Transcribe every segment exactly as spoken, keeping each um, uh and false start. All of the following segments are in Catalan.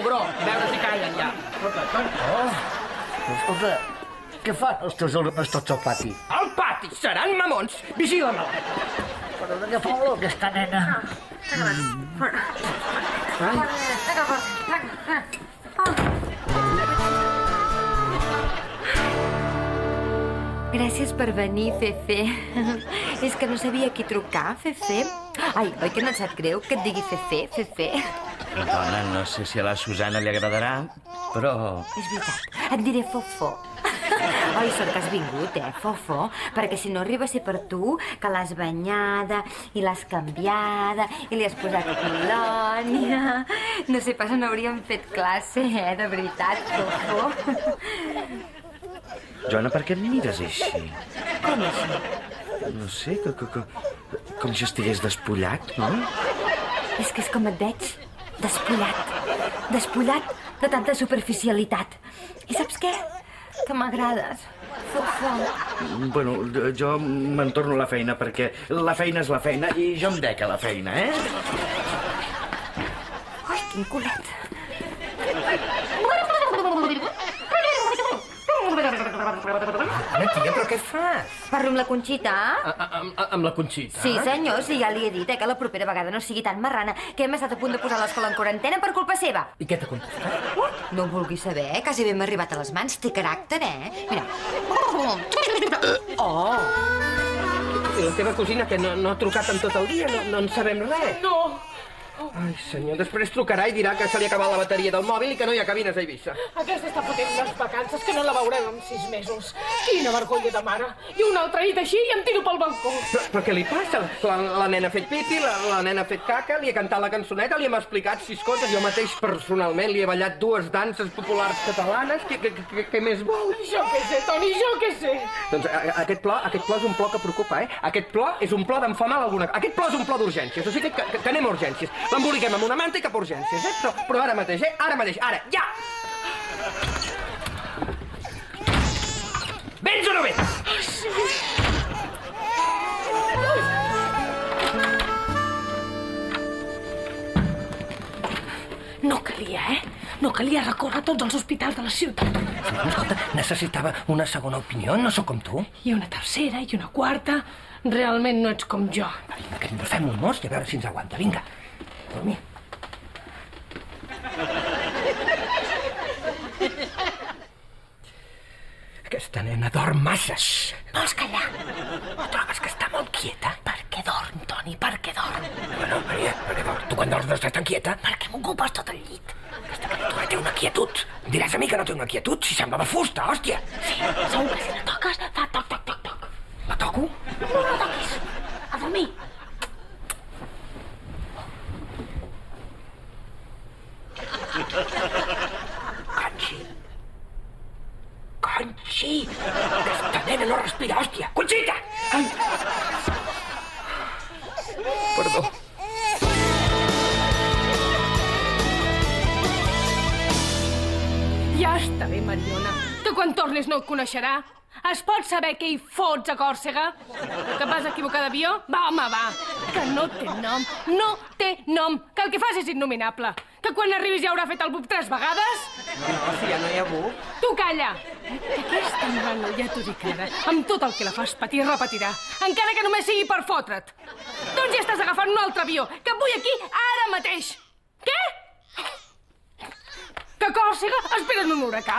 bro, a veure si callen ja. Oh, escolta, què fan els teus alumnes tots al pati? Al pati seran mamons. Vigila-me. Però de què fa olor aquesta nena? Gràcies per venir, Fefe. És que no sabia a qui trucar, Fefe. Ai, oi que no et sap greu que et digui Fefe, Fefe? Dona, no sé si a la Susana li agradarà, però... És veritat, et diré Fofó. Oi, sort que has vingut, eh, Fofó? Perquè si no arriba a ser per tu, que l'has banyada i l'has canviada i li has posat colònia... No sé pas on hauríem fet classe, eh, de veritat, Fofó. Joana, per què et mires així? Com així? No sé, que, que, que, com si estigués despullat, no? És que és com et veig, despullat. Despullat de tanta superficialitat. I saps què? Que m'agrades, Fofó. Bueno, jo me'n torno a la feina, perquè la feina és la feina i jo em dec a la feina, eh? Ai, quin culet. Ara, tia, però què fas? Parlo amb la Conxita? Amb la Conxita? Sí, senyor, sí, ja li he dit, eh, que la propera vegada no sigui tan marrana, que hem estat a punt de posar l'escola en quarantena per culpa seva. I què t'ha contestat? No ho vulguis saber, eh? Quasi bé m'ha arribat a les mans. Té caràcter, eh? Mira. Oh! I la teva cosina, que no, no ha trucat en tot el dia? No, no en sabem res? No! Ai, senyor, després trucarà i dirà que se li ha acabat la bateria del mòbil i que no hi ha cabines a Eivissa. Aquesta està fotent unes vacances que no la veurem en sis mesos. Quina vergonya de mare. I una altra nit així i em tiro pel balcó. Però, però què li passa? La, la nena ha fet pipi, la, la nena ha fet caca, li ha cantat la cançoneta, li hem explicat sis coses. Jo mateix, personalment, li he ballat dues danses populars catalanes. Què, què, què, què més vol? Jo què sé, Toni, jo què sé. Doncs a, a, aquest plor, aquest plor és un plor que preocupa, eh? Aquest plor és un plor d'enfamar alguna cosa. Aquest plor és un plor d'urgències. O sigui que, que, que anem a urgències. L'emboliquem amb una manta i cap a urgències, eh? Però, però ara mateix, eh? Ara mateix, ara, ja! Vens o no vens? No calia, eh? No calia recórrer a tots els hospitals de la ciutat. Escolta, necessitava una segona opinió, no sóc com tu. I una tercera, i una quarta. Realment no ets com jo. Vinga, que ens fem un mos i a veure si ens aguanta. Vinga, dormi. Aquesta nena dorm masses. Vols callar? No trobes que està molt quieta? Per què dorm, Toni? Per què dorm? Bueno, Maria, per què dorm? Tu quan dorms no estàs tan quieta? Perquè m'ocupes tot el llit. Aquesta criatura té una quietud. Em diràs a mi que no té una quietud? Si sembla de fusta, hòstia. Sí, segur que si la toques fa toc, toc, toc, toc. La toco? No la toquis. A dormir. Conxi. Conxi! Aquesta nena no respira, hòstia! Conxita! Ai! Perdó. Ja està bé, Mariona, que quan tornis no et coneixerà. Es pot saber què hi fots a Còrsega? Que vas equivocar d'avió? Va, home, va. Que no té nom, no té nom. Que el que fas és innominable. Que quan arribis ja haurà fet el bub tres vegades? No, no, si ja no hi ha buc. Tu calla! Que aquesta nano, ja t'ho dic ara, amb tot el que la fas patir repetirà, encara que només sigui per fotre't. Doncs ja estàs agafant un altre avió, que et vull aquí ara mateix. Què? Que a Còrsega esperen un huracà.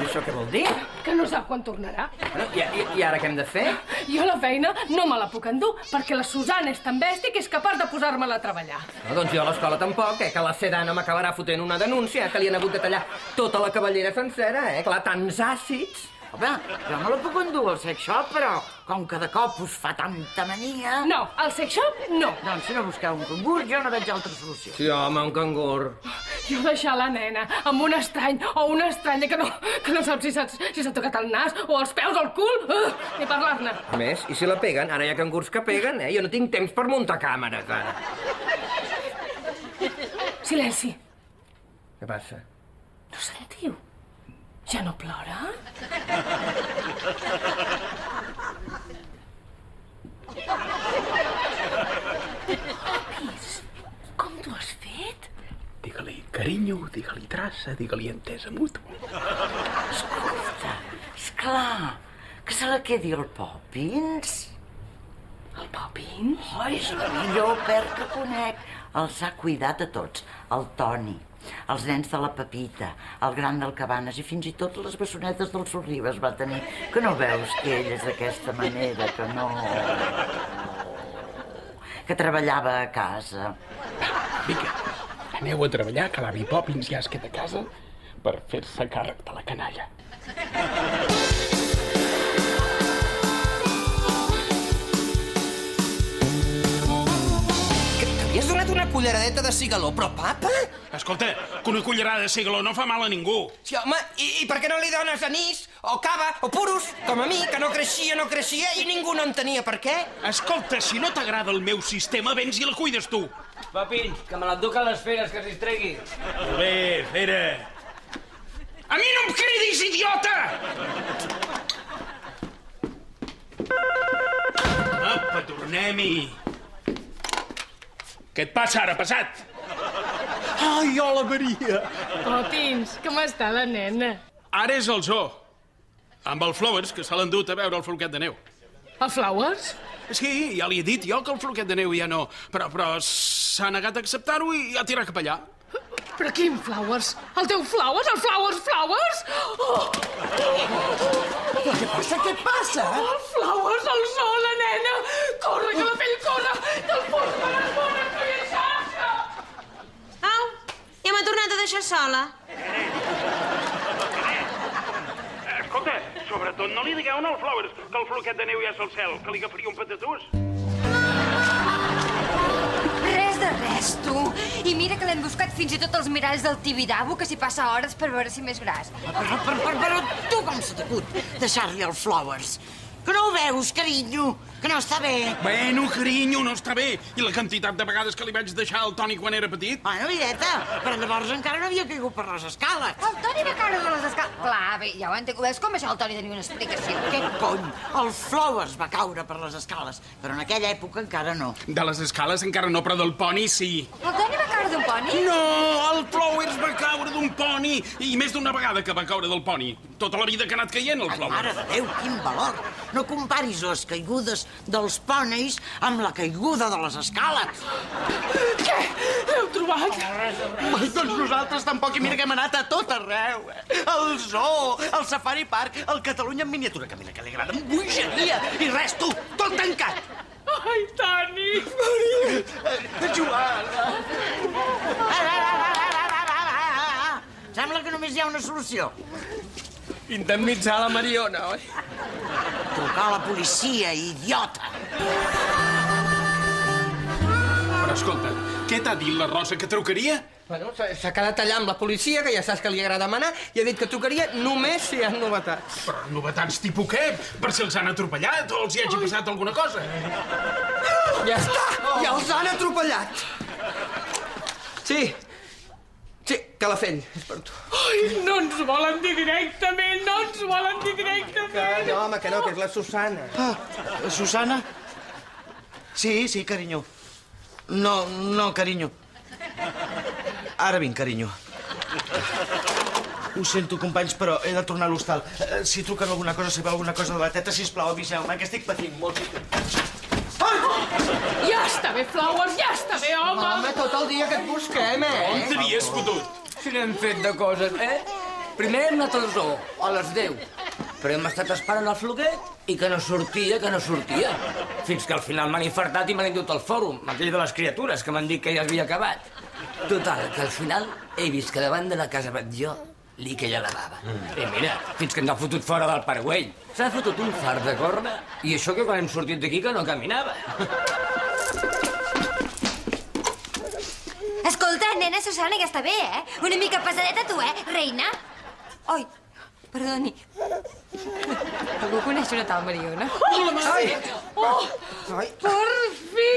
I això què vol dir? Que no sap quan tornarà. Bueno, i, i, I ara què hem de fer? Jo la feina no me la puc endur, perquè la Susana és tan bèstia que és capaç de posar-me-la a treballar. No, doncs jo a l'escola tampoc, eh? Que la Sedana m'acabarà fotent una denúncia, que li han hagut de tallar tota la cavallera sencera, eh? Clar, tants àcids. Home, jo me la puc endur al sex shop, però com que de cop us fa tanta mania... No, al sex shop, no. Doncs si no busqueu un cangur, jo no veig altra solució. Sí, home, un cangur. Jo deixar la nena amb un estrany o una estranya que no, que no sap si s'ha si s'ha tocat el nas o els peus o el cul, uh, ni parlar-ne. A més, i si la peguen? Ara hi ha cangurs que peguen, eh? Jo no tinc temps per muntar càmeres, ara. Silenci. Què passa? No sentiu? Ja no plora? Papis, com t'ho has fet? Digue-li Carinyo, digue-li traça, digue-li entesa mútua. Escolta, esclar, que se la quedi el Poppins. El Poppins? Oh, és la millor perd que conec. Els ha cuidat a tots. El Toni, els nens de la Pepita, el gran del Cabanes i fins i tot les bessonetes del Sorribes va tenir. Que no veus que ell és d'aquesta manera, que no... que treballava a casa. Vinga, aneu a treballar, que l'avi Poppins ja es queda a casa per fer-se càrrec de la canalla. T'havies donat una culleradeta de cigaló, però papa? Escolta, que una cullerada de cigaló no fa mal a ningú. Sí, home, i, i per què no li dones anís, o cava, o puros, com a mi, que no creixia, no creixia, i ningú no entenia per què? Escolta, si no t'agrada el meu sistema, vens i la cuides tu. Poppins, que me l'enduc a les feres, que s'hi tregui. Molt bé, fera. A mi no em cridis, idiota! Apa, tornem-hi. Què et passa ara, passat? Ai, hola, Maria. Poppins, com està la nena? Ara és el zoo. Amb el Flowers, que se l'han dut a veure el floquet de neu. El Flowers? Sí, ja li he dit jo que el floquet de neu ja no... Però, però s'ha negat a acceptar-ho i ha tirat cap allà. Però quin Flowers? El teu Flowers? El Flowers Flowers? Oh! Què passa, què passa? El Flowers, el sol, la nena! Corre, que la pell corre! Que el fos per les bones, que hi ha xarxa! Au, ja m'ha tornat a deixar sola. Escolta, sobretot no li digueu al Flowers que el floquet de neu ja és al cel, que li agafaria un patatús. Res de res, tu. I mira que l'hem buscat fins i tot als miralls del Tibidabo, que s'hi passa hores per veure si més gras. Però, però, però, però tu com se t'acut deixar-li el Flowers? Que no ho veus, carinyo? Que no està bé. Bueno, carinyo, no està bé. I la quantitat de vegades que li vaig deixar al Toni quan era petit? Bueno, videta, però llavors encara no havia caigut per les escales. El Toni va caure de les escales. Clar, bé, ja ho entenc. Veus com això el Toni tenia una explicació? Què cony? El Flowers va caure per les escales, però en aquella època encara no. De les escales encara no, però del poni sí. El Toni va caure d'un poni? No, el Flowers va caure d'un poni. I més d'una vegada que va caure del poni. Tota la vida que ha anat caient, el Ai, Flowers. mare de Déu, quin valor. No comparis les caigudes dels ponis amb la caiguda de les escales. Què? L'heu trobat? Ai, doncs nosaltres tampoc, i mira que hem anat a tot arreu. El zoo, el Safari Park, el Catalunya en miniatura, que mira que li agrada, amb bogeria, i res, tu, tot tancat. Ai, Toni! Joana! Sembla que només hi ha una solució. Indemnitzar la Mariona, oi? Trucar a la policia, idiota. Però escolta, què t'ha dit la Rosa, que trucaria? Bueno, s'ha s'ha quedat allà amb la policia, que ja saps que li agrada manar, i ha dit que trucaria només si hi ha novetats. Però novetats tipus què? Per si els han atropellat o els hi hagi passat alguna cosa. Ja està! Ja els han atropellat! Sí, sí, Calafell, és per tu. Ai, no ens volen dir directament, no ens volen dir directament. Que no, home, que no, que és la Susana. Ah, Susana? Sí, sí, carinyo. No, no, carinyo. Ara vinc, carinyo. Ho sento, companys, però he de tornar a l'hostal. Eh, Si truquen alguna cosa, sabeu alguna cosa de la teta, sisplau, aviseu-me, que estic patint molt. Ja està bé, Flowers, ja està bé, home. Home, tot el dia que et busquem, eh? On t'havies fotut? Si n'hem fet de coses, eh? Primer hem anat al zoo, a les deu. Però hem estat esperant el floquet i que no sortia, que no sortia. Fins que al final m'han infartat i m'han endut al fòrum, aquell de les criatures, que m'han dit que ja havia acabat. Total, que al final he vist que davant de la casa vaig jo li queia la bava. Mm. I mira, fins que ens ha fotut fora del paragüell. S'ha fotut un far de corna i això que quan hem sortit d'aquí que no caminava. Escolta, nena Susana, ja està bé, eh? Una mica pesadeta tu, eh, reina? Oi, perdoni. Algú coneix una tal Mariona? Hola, Mariona. Oh, Ai. per fi!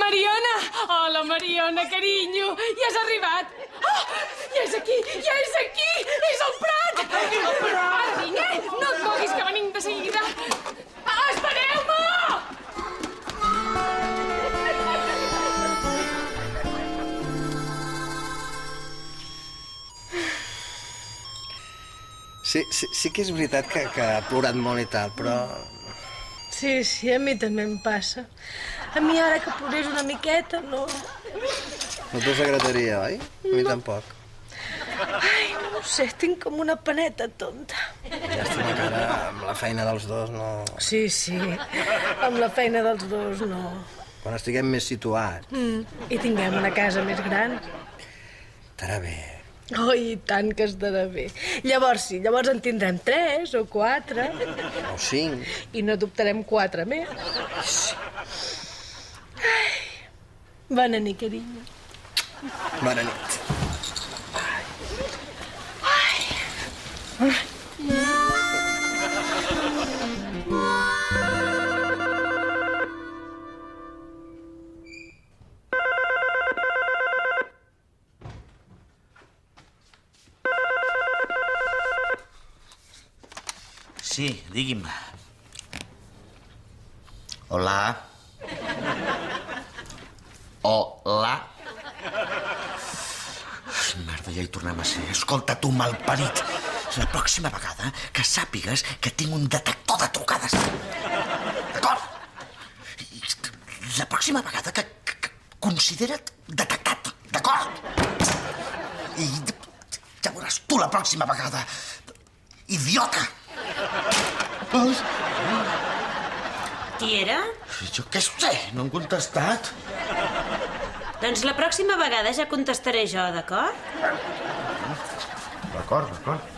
Mariona! Hola, Mariona, carinyo. Ja has arribat. Oh, ja és aquí, ja és aquí! És el Prat! Ara vinc, eh? No et moguis, que venim de seguida. Ah, espereu-me! Sí, sí, sí que és veritat que, que ha plorat molt i tal, però... Sí, sí, a mi també em passa. A mi ara que plorés una miqueta, no... No t'us agradaria, oi? A mi tampoc. Ai, no ho sé, tinc com una paneta tonta. Llàstima que ara amb la feina dels dos no... Sí, sí, amb la feina dels dos no. Quan estiguem més situats. Mm. I tinguem una casa més gran. Estarà bé. Oh, i tant que estarà bé. Llavors sí, llavors en tindrem tres o quatre. O cinc. I no adoptarem quatre més. Ai. Bona nit, carinyo. Bona nit. Ai. Ai. Sí, digui'm. Hola. Hola. Merda, ja hi tornem a ser. Escolta, tu, malparit. La pròxima vegada que sàpigues que tinc un detector de trucades. D'acord? La pròxima vegada que, que, que considera't detectat. D'acord? I ja veuràs tu la pròxima vegada. Idiota! Qui era? Jo què sé, no han contestat. Doncs la pròxima vegada ja contestaré jo, d'acord? D'acord, d'acord.